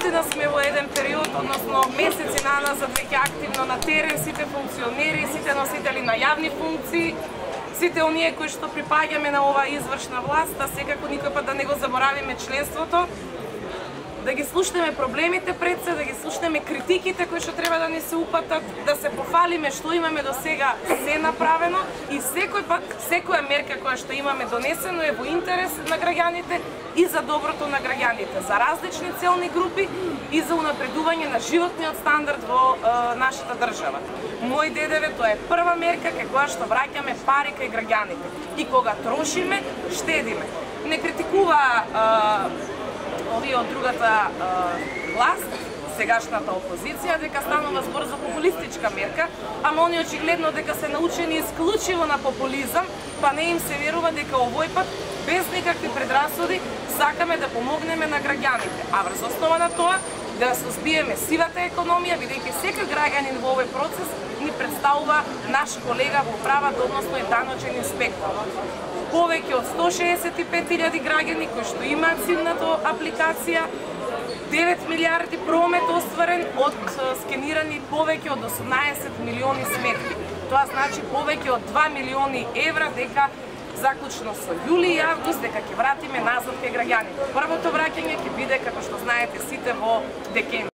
Навистина сме во еден период, односно месеци назад веќе активно на терен, сите функционери, сите носители на јавни функции, сите оние кои што припаѓаме на оваа извршна власт, а секако никој пат да не го заборавиме членството, да ги слушнеме проблемите пред се, да ги слушнеме критиките кои што треба да ни се упатат, да се пофалиме што имаме до сега се направено и секој пат, секоја мерка која што имаме донесено е во интерес на граѓаните и за доброто на граѓаните, за различни целни групи и за унапредување на животниот стандард во нашата држава. Мој ДДВ тоа е прва мерка кај која што враќаме пари кај граѓаните и кога трошиме, штедиме. Не критикува овие од другата власт, сегашната опозиција, дека станува збор за популистичка мерка, ама они очигледно дека се научени исклучиво на популизам, па не им се верува дека овој пат, без никакви предрасуди, сакаме да помогнеме на граѓаните. А врз основа на тоа, да сузбиеме сивата економија, бидејќи секој граѓанин во овој процес ни представува наш колега во правата, односно е даночен инспектор. Повеќе од 165.000 граѓани кои што имаат сивната апликација, 9 милиарди промет остварен од скенирани повеќе од 18 милиони сметки. Тоа значи повеќе од 2 милиони евра дека заклучно со јули и август дека ќе вратиме назад кај граѓаните. Првото враќање ќе биде, како што знаете сите, во декември.